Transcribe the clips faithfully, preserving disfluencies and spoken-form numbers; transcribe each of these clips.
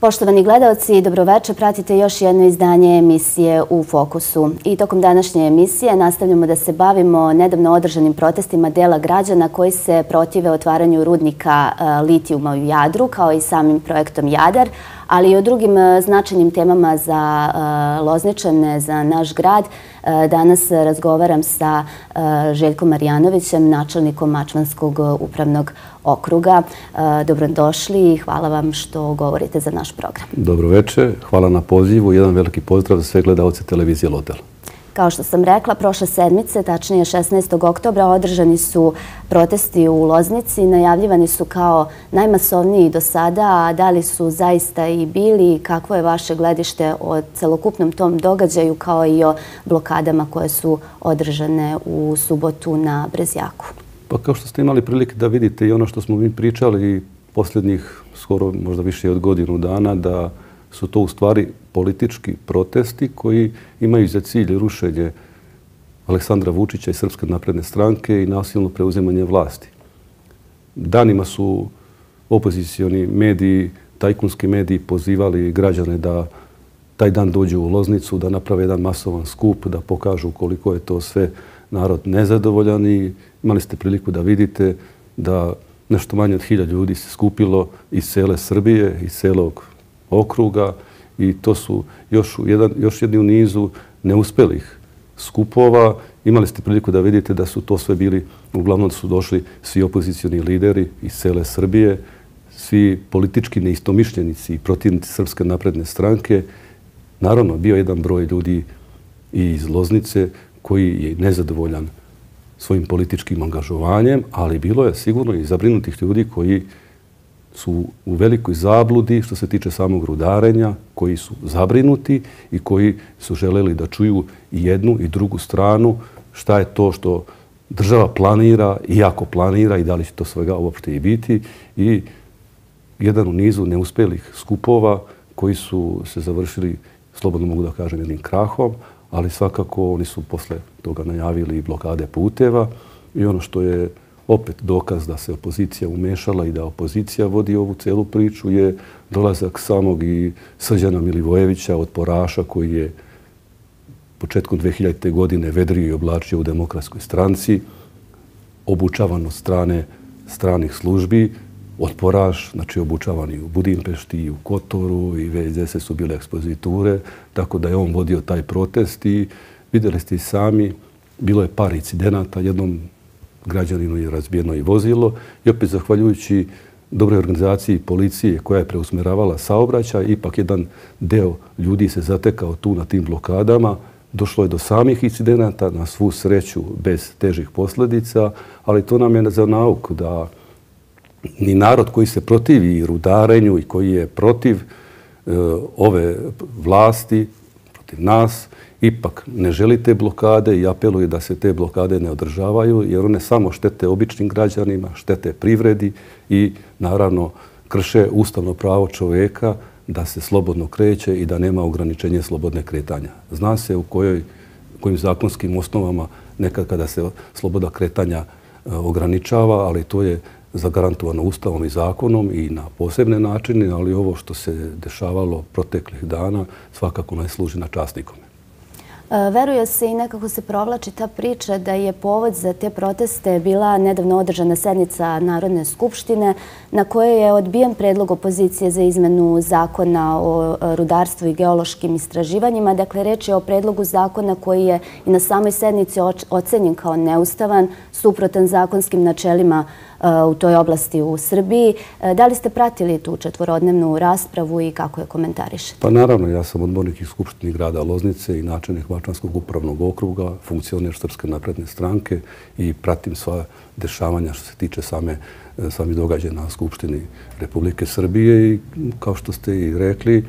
Poštovani gledalci, dobroveče, pratite još jedno izdanje emisije U fokusu. I tokom današnje emisije nastavljamo da se bavimo nedavno održanim protestima dela građana koji se protive otvaranju rudnika litijuma u Jadru, kao i samim projektom Jadar, ali i o drugim značajnim temama za Lozničane, za naš grad. Danas razgovaram sa Željkom Marjanovićem, načelnikom Mačvanskog upravnog okruga. Dobrodošli i hvala vam što govorite za naš program. Dobroveče, hvala na pozivu i jedan veliki pozdrav za sve gledalce televizije Lodel. Kao što sam rekla, prošle sedmice, tačnije šesnaestog oktobra, održani su protesti u Loznici. Najavljivani su kao najmasovniji do sada, a da li su zaista i bili? Kakvo je vaše gledište o celokupnom tom događaju, kao i o blokadama koje su održane u subotu na Brezjaku? Pa kao što ste imali prilike da vidite i ono što smo mi pričali posljednjih skoro možda više od godinu dana, da su to u stvari politički protesti koji imaju za cilj rušenje Aleksandra Vučića i Srpske napredne stranke i nasilno preuzimanje vlasti. Danima su opozicioni mediji, tajkunski mediji pozivali građane da taj dan dođu u Loznicu, da naprave jedan masovan skup, da pokažu koliko je to sve narod nezadovoljan i imali ste priliku da vidite da nešto manje od hiljadu ljudi se skupilo iz cele Srbije, iz celog okruga i to su još, jedan, još jedni u nizu neuspelih skupova. Imali ste priliku da vidite da su to sve bili, uglavnom su došli svi opozicioni lideri iz cele Srbije, svi politički neistomišljenici i protivnici Srpske napredne stranke. Naravno, bio jedan broj ljudi i iz Loznice koji je nezadovoljan svojim političkim angažovanjem, ali bilo je sigurno i zabrinutih ljudi koji su u velikoj zabludi što se tiče samog rudarenja, koji su zabrinuti i koji su želeli da čuju i jednu i drugu stranu šta je to što država planira i ako planira i da li će to svega uopšte i biti. I jedan u nizu neuspelih skupova koji su se završili, slobodno mogu da kažem, jednim krahom, ali svakako oni su posle toga najavili i blokade puteva i ono što je opet dokaz da se opozicija umešala i da opozicija vodi ovu celu priču je dolazak samog i Srđana Milivojevića od Poraša koji je početkom dve hiljadite. godine vedrio i oblačio u Demokratskoj stranci, obučavan od strane stranih službi. Otporaš, znači obučavan i u Budimpešti i u Kotoru i već gdje su bile ekspoziture, tako da je on vodio taj protest i vidjeli ste i sami, bilo je par incidenata, jednom građaninu je razbijeno i vozilo i opet zahvaljujući dobroj organizaciji policije koja je preusmeravala saobraćaj, ipak jedan deo ljudi se zatekao tu na tim blokadama. Došlo je do samih incidenata, na svu sreću bez težih posljedica, ali to nam je za nauku da ni narod koji se protivi rudarenju i koji je protiv e, ove vlasti, protiv nas, ipak ne želi te blokade i apeluje da se te blokade ne održavaju, jer one samo štete običnim građanima, štete privredi i naravno krše ustavno pravo čovjeka da se slobodno kreće i da nema ograničenje slobodne kretanja. Zna se u kojoj, kojim zakonskim osnovama nekad kada se sloboda kretanja ograničava, ali to je zagarantovano ustavom i zakonom i na posebne načine, ali ovo što se dešavalo proteklih dana svakako ne služi na čast nikome. Veruje se i nekako se provlači ta priča da je povod za te proteste bila nedavno održana sednica Narodne skupštine na kojoj je odbijen predlog opozicije za izmenu zakona o rudarstvu i geološkim istraživanjima. Dakle, reč je o predlogu zakona koji je i na samoj sednici ocenjen kao neustavan, suprotan zakonskim načelima u toj oblasti u Srbiji. Da li ste pratili tu četvorodnevnu raspravu i kako je komentarišete? Pa naravno, ja sam odbornik iz Skupštine grada Loznice i načelnik Mačvanskog upravnog okruga, funkcioner Srpske napredne stranke i pratim sva dešavanja što se tiče same, sami događaja na Skupštini Republike Srbije i kao što ste i rekli,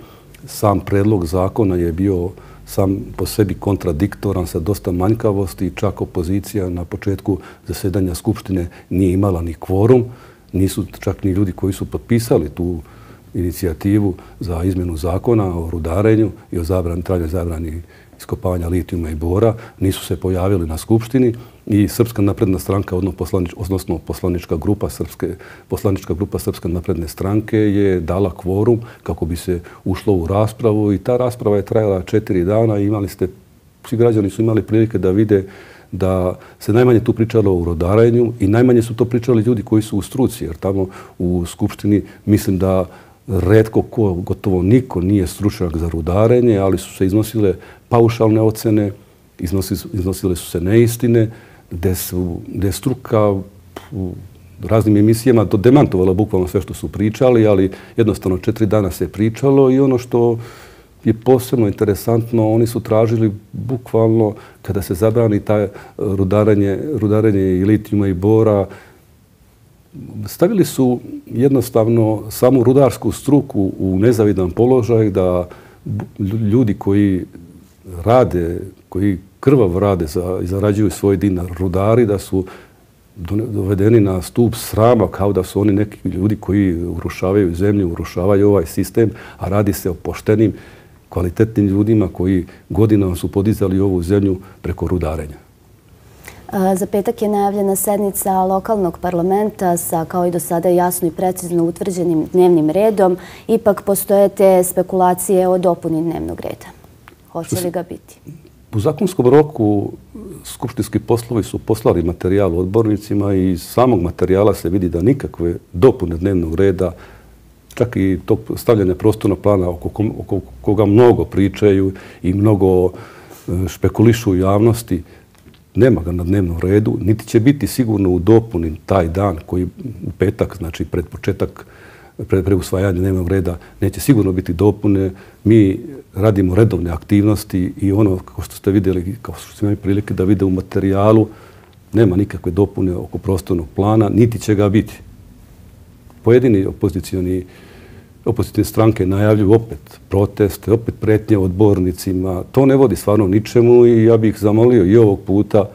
sam predlog zakona je bio sam po sebi kontradiktoran sa dosta manjkavosti. Čak opozicija na početku zasedanja Skupštine nije imala ni kvorum. Nisu čak ni ljudi koji su potpisali tu inicijativu za izmjenu zakona o rudarenju i o zabrani, trajnoj zabrani iskopavanja litijuma i bora, nisu se pojavili na Skupštini i Srpska napredna stranka, odnosno poslanička grupa Srpske, poslanička grupa Srpske napredne stranke je dala kvorum kako bi se ušlo u raspravu i ta rasprava je trajala četiri dana i imali ste, svi građani su imali prilike da vide da se najmanje tu pričalo o rudarenju i najmanje su to pričali ljudi koji su u struci, jer tamo u Skupštini mislim da retko ko, gotovo niko nije stručnjak za rudarenje, ali su se iznosile paušalne ocene, iznosile, iznosile su se neistine, gde, su, gde je struka u raznim emisijama demantovala bukvalno sve što su pričali, ali jednostavno četiri dana se pričalo i ono što je posebno interesantno, oni su tražili bukvalno kada se zabrani taj rudarenje, rudarenje i litijuma i bora, stavili su jednostavno samu rudarsku struku u nezavidan položaj da ljudi koji rade, koji krvav rade za, i zarađuju svoj dinar rudari, da su dovedeni na stup srama kao da su oni neki ljudi koji urušavaju zemlju, urušavaju ovaj sistem, a radi se o poštenim, kvalitetnim ljudima koji godinama su podizali ovu zemlju preko rudarenja. Za petak je najavljena sednica lokalnog parlamenta sa, kao i do sada, jasno i precizno utvrđenim dnevnim redom. Ipak postoje te spekulacije o dopuni dnevnog reda. Hoće li ga biti? U zakonskom roku skupštinski poslovi su poslali materijal odbornicima i iz samog materijala se vidi da nikakve dopune dnevnog reda, čak i tog stavljanja prostornog plana oko, oko koga mnogo pričaju i mnogo špekulišu u javnosti, nema ga na dnevnom redu, niti će biti sigurno u dopuni taj dan koji u petak, znači pred početak, pred usvajanje dnevnog reda, neće sigurno biti dopune. Mi radimo redovne aktivnosti i ono, kao što ste vidjeli, kao što ste imali prilike da vide u materijalu, nema nikakve dopune oko prostornog plana, niti će ga biti. Pojedini opozicioni opozicijne stranke najavljuju opet proteste, opet pretnje odbornicima. To ne vodi stvarno ničemu i ja bih zamolio i ovog puta,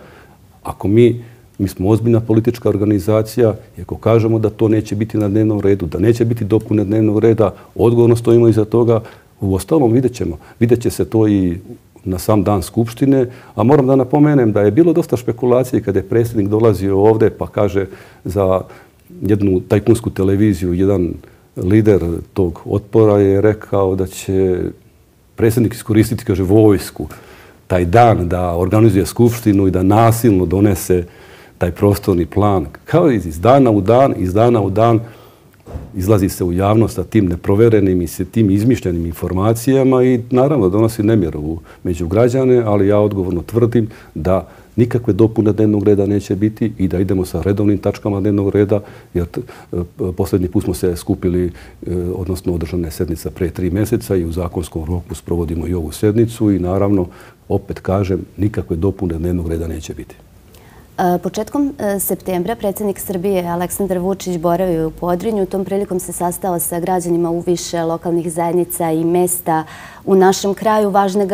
ako mi, mi smo ozbiljna politička organizacija i ako kažemo da to neće biti na dnevnom redu, da neće biti dopune dnevnog reda, odgovorno stojimo iza toga. U ostalom vidjet ćemo. Vidjet će se to i na sam dan Skupštine, a moram da napomenem da je bilo dosta špekulacije kada je predsjednik dolazio ovdje pa kaže za jednu tajkunsku televiziju, jedan lider tog otpora je rekao da će predsjednik iskoristiti, kaže, vojsku taj dan da organizuje skupštinu i da nasilno donese taj prostorni plan. Kao iz dana u dan, iz dana u dan izlazi se u javnost sa tim neproverenim i sa tim izmišljenim informacijama i naravno donosi nemjeru među građane, ali ja odgovorno tvrdim da nikakve dopune dnevnog reda neće biti i da idemo sa redovnim tačkama dnevnog reda, jer posljednji put smo se skupili, odnosno održana je sednica pre tri mjeseca i u zakonskom roku sprovodimo i ovu sednicu i naravno, opet kažem, nikakve dopune dnevnog reda neće biti. Početkom septembra predsjednik Srbije Aleksandar Vučić boravio u Podrinju. Tom prilikom se sastao sa građanima u više lokalnih zajednica i mesta u našem kraju. Važne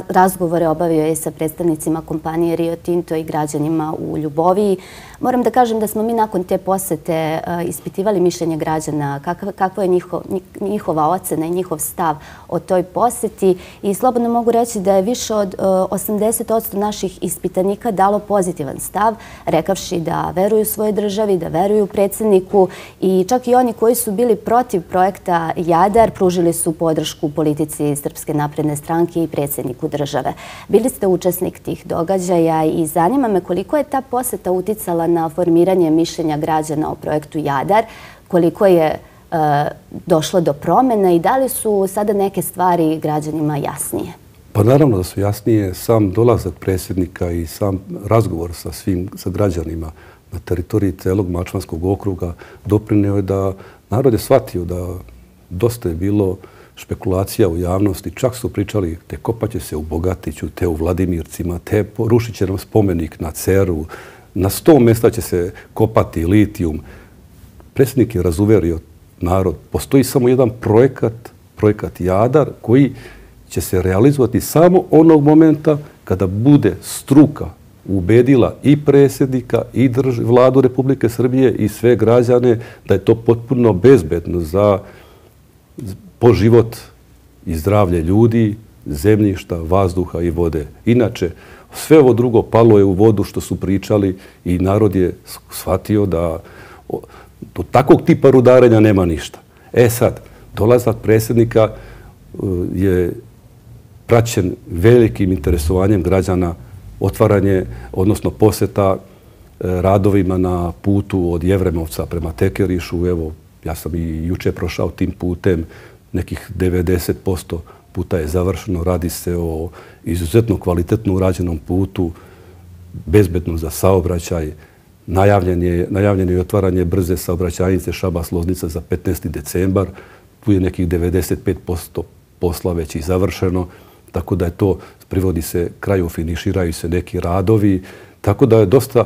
razgovore obavio je sa predstavnicima kompanije Rio Tinto i građanima u Ljuboviji. Moram da kažem da smo mi nakon te posete ispitivali mišljenje građana, kakva je njihova ocena i njihov stav o toj poseti i slobodno mogu reći da je više od osamdeset posto naših ispitanika dalo pozitivan stav, rekavši da veruju svojoj državi, da veruju predsjedniku i čak i oni koji su bili protiv projekta Jadar pružili su podršku politici Srpske napredne stranke i predsjedniku države. Bili ste učesnik tih događaja i zanima me koliko je ta poseta uticala na formiranje mišljenja građana o projektu Jadar, koliko je došlo do promjena i da li su sada neke stvari građanima jasnije? Pa naravno da su jasnije. Sam dolazak predsjednika i sam razgovor sa svim sa građanima na teritoriji celog Mačvanskog okruga doprineo je da narod je shvatio da dosta je bilo špekulacija u javnosti. Čak su pričali te kopaće se u Bogatiću, te u Vladimircima, te rušit će nam spomenik na Ceru. Na sto mjesta će se kopati litijum. Predsjednik je razuverio narod. Postoji samo jedan projekat, projekat Jadar, koji će se realizovati samo onog momenta kada bude struka ubedila i predsjednika i vladu Republike Srbije i sve građane da je to potpuno bezbedno za po život i zdravlje ljudi, zemljišta, vazduha i vode. Inače, sve ovo drugo palo je u vodu što su pričali i narod je shvatio da do takvog tipa rudarenja nema ništa. E sad, dolazak predsjednika je praćen velikim interesovanjem građana, otvaranje, odnosno posjeta radovima na putu od Jevremovca prema Tekerišu. Evo, ja sam i juče prošao tim putem, nekih devedeset posto puta je završeno. Radi se o izuzetno kvalitetno urađenom putu, bezbedno za saobraćaj. Najavljeno je otvaranje brze saobraćajnice Šabac-Loznica za petnaesti decembar. Tu je nekih devedeset pet posto posla već i završeno. Tako da je to, privodi se kraju, finiširaju se neki radovi. Tako da je dosta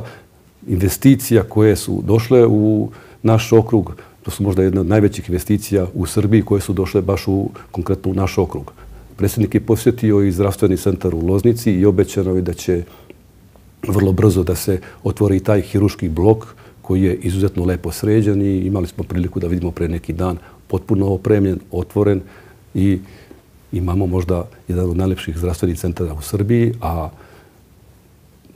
investicija koje su došle u naš okrug. To su možda jedna od najvećih investicija u Srbiji koje su došle baš u konkretno u naš okrug. Predsjednik je posjetio i zdravstveni centar u Loznici i obećano je da će vrlo brzo da se otvori taj hirurški blok koji je izuzetno lepo sređen i imali smo priliku da vidimo pre neki dan potpuno opremljen, otvoren i imamo možda jedan od najlepših zdravstvenih centara u Srbiji, a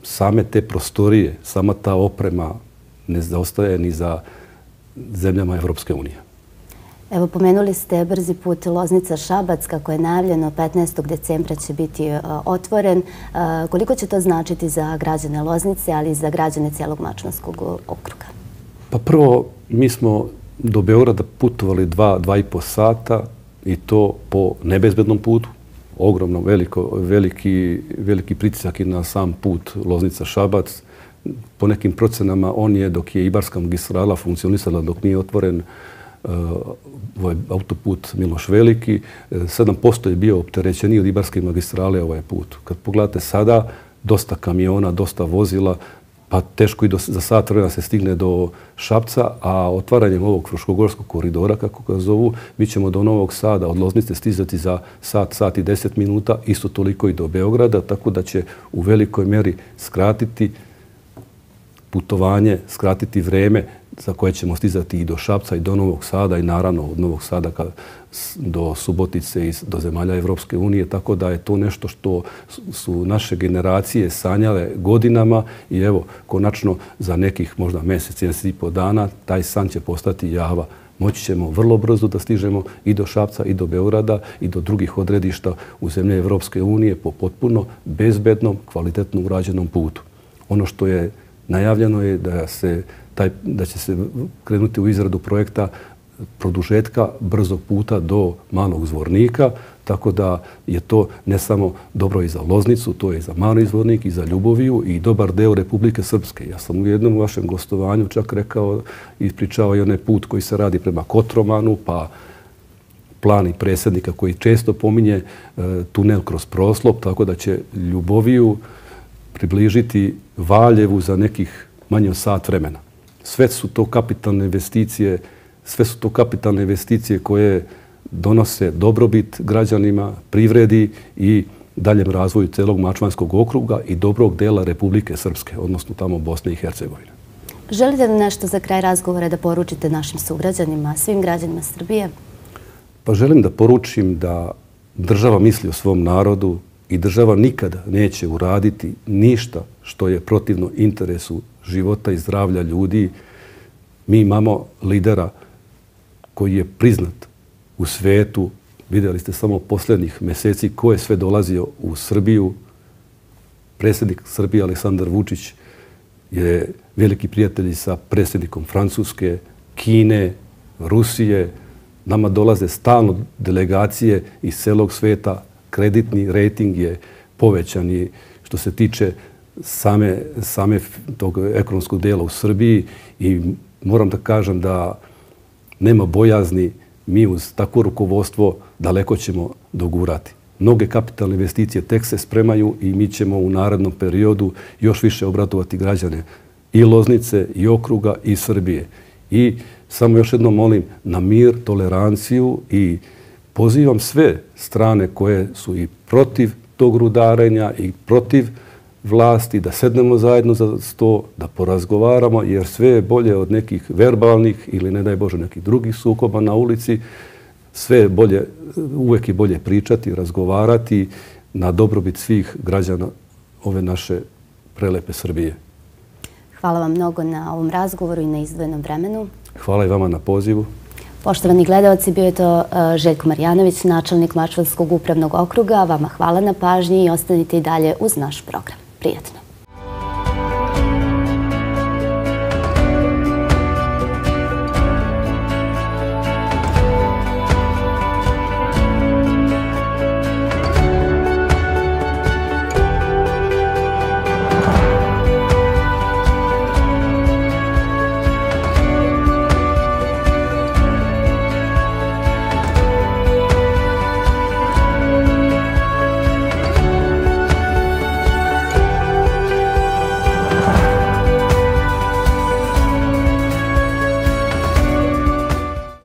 same te prostorije, sama ta oprema ne zaostaje ni za zemljama Evropske unije. Evo, pomenuli ste brzi put Loznica-Šabac, kako je najavljeno petnaestog decembra će biti otvoren. Koliko će to značiti za građane Loznice, ali i za građane cijelog Mačvanskog okruga? Pa prvo, mi smo do Beograda putovali dva, dva i po sata i to po nebezbednom putu. Ogromno, veliko, veliki, veliki pritisak je na sam put Loznica-Šabac. Po nekim procenama on je, dok je Ibarska magistrala funkcionisala, dok nije otvoren ovaj autoput Miloš Veliki, sedam posto je bio opterećeniji od Ibarske magistrale ovaj put. Kad pogledate sada, dosta kamiona, dosta vozila, pa teško i do, za sat vremena se stigne do Šapca, a otvaranjem ovog Fruškogorskog koridora, kako ga zovu, mi ćemo do Novog Sada, od Loznice stizati za sat, sat i deset minuta, isto toliko i do Beograda, tako da će u velikoj mjeri skratiti putovanje, skratiti vreme za koje ćemo stizati i do Šapca i do Novog Sada i naravno od Novog Sada do Subotice i do zemalja Evropske unije. Tako da je to nešto što su naše generacije sanjale godinama i evo, konačno za nekih možda mjesec, mjesec i po dana taj san će postati java. Moći ćemo vrlo brzo da stižemo i do Šapca i do Beograda i do drugih odredišta u zemlje Evropske unije po potpuno bezbednom, kvalitetno urađenom putu. Ono što je najavljeno je da se taj, da će se krenuti u izradu projekta produžetka brzog puta do Malog Zvornika, tako da je to ne samo dobro i za Loznicu, to je i za Mali Zvornik i za Ljuboviju i dobar deo Republike Srpske. Ja sam u jednom vašem gostovanju čak rekao i ispričao i onaj put koji se radi prema Kotromanu, pa plan i predsjednika koji često pominje tunel kroz Proslop, tako da će Ljuboviju približiti Valjevu za nekih manje od sat vremena. Sve su to kapitalne investicije, sve su to kapitalne investicije koje donose dobrobit građanima, privredi i daljem razvoju celog Mačvanskog okruga i dobrog dela Republike Srpske, odnosno tamo Bosne i Hercegovine. Želite li nešto za kraj razgovora da poručite našim sugrađanima, svim građanima Srbije? Pa želim da poručim da država misli o svom narodu i država nikada neće uraditi ništa što je protivno interesu života i zdravlja ljudi. Mi imamo lidera koji je priznat u svetu. Vidjeli ste samo posljednjih mjeseci ko je sve dolazio u Srbiju. Predsjednik Srbije Aleksandar Vučić je veliki prijatelj sa predsjednikom Francuske, Kine, Rusije. Nama dolaze stalno delegacije iz celog sveta. Kreditni rejting je povećan i što se tiče same, same tog ekonomskog dela u Srbiji i moram da kažem da nema bojazni, mi uz takvo rukovodstvo daleko ćemo dogurati. Mnoge kapitalne investicije tek se spremaju i mi ćemo u narednom periodu još više obratovati građane i Loznice, i okruga, i Srbije. I samo još jednom molim na mir, toleranciju i pozivam sve strane koje su i protiv tog rudarenja i protiv vlasti da sednemo zajedno za sto, da porazgovaramo, jer sve je bolje od nekih verbalnih ili, ne daj Bože, nekih drugih sukoba na ulici. sve je bolje, uvek je bolje pričati, razgovarati na dobrobit svih građana ove naše prelepe Srbije. Hvala vam mnogo na ovom razgovoru i na izdvojenom vremenu. Hvala i vama na pozivu. Poštovani gledalci, bio je to Željko Marjanović, načelnik Mačvanskog upravnog okruga. Vama hvala na pažnji i ostanite i dalje uz naš program. Prijatno.